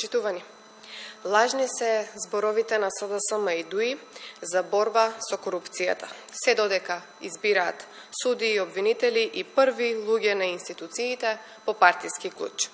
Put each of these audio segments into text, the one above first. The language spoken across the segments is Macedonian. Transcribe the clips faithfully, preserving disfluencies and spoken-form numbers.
Почитувани, лажни се зборовите на СДСМ и ДУИ за борба со корупцијата, се додека избираат суди и обвинители и први луѓе на институциите по партиски клуч.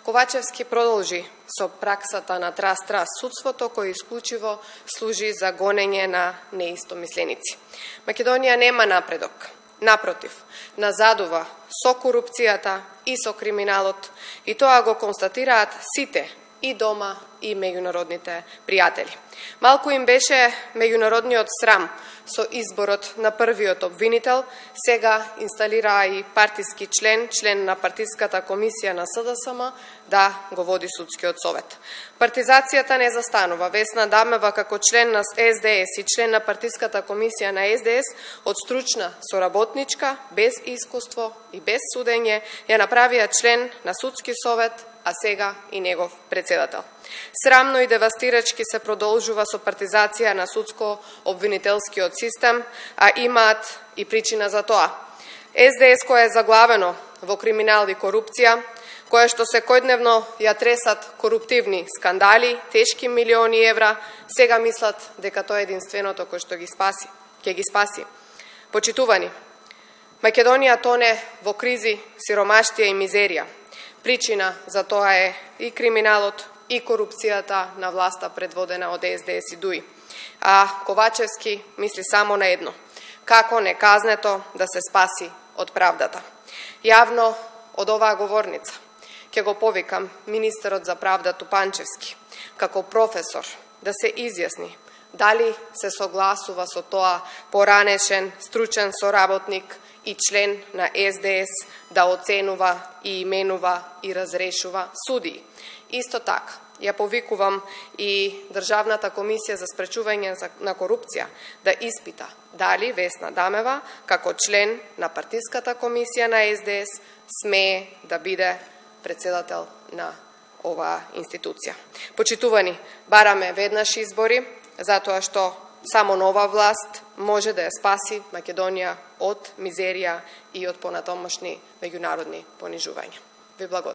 Ковачевски продолжи со праксата на трас-трас судството, кој исклучиво служи за гонење на неистомисленици. Македонија нема напредок. Напротив, назадува со корупцијата и со криминалот, и тоа го констатираат сите, и дома, и меѓународните пријатели. Малку им беше меѓународниот срам со изборот на првиот обвинител, сега инсталираа и партиски член, член на партиската комисија на СДСМ, да го води судскиот совет. Партизацијата не застанува. Весна Дамева, како член на СДС и член на партиската комисија на СДС, од стручна соработничка, без искуство и без судење, ја направија член на судски совет, а сега и негов председател. Срамно и девастирачки се продолжува со партизација на судско-обвинителскиот систем, а имаат и причина за тоа. СДС, кое е заглавено во криминал и корупција, кое што секојдневно ја тресат коруптивни скандали, тешки милиони евра, сега мислат дека тоа е единственото кој што ги спаси, ќе ги спаси. Почитувани, Македонија тоне во кризи, сиромаштија и мизерија. Причина за тоа е и криминалот, и корупцијата на власта предводена од СДС и ДУИ. А Ковачевски мисли само на едно: како неказнето да се спаси од правдата. Јавно од оваа говорница ќе го повикам министерот за правда Тупанчевски, како професор, да се изјасни дали се согласува со тоа поранешен стручен соработник и член на СДС да оценува и именува и разрешува судии. Исто така, ја повикувам и Државната комисија за спречување на корупција да испита дали Весна Дамева, како член на партиската комисија на СДС, смее да биде председател на оваа институција. Почитувани, бараме веднаш избори, затоа што само нова власт може да ја спаси Македонија од мизерија и од понатомошни меѓународни понижувања. Ви благодарам.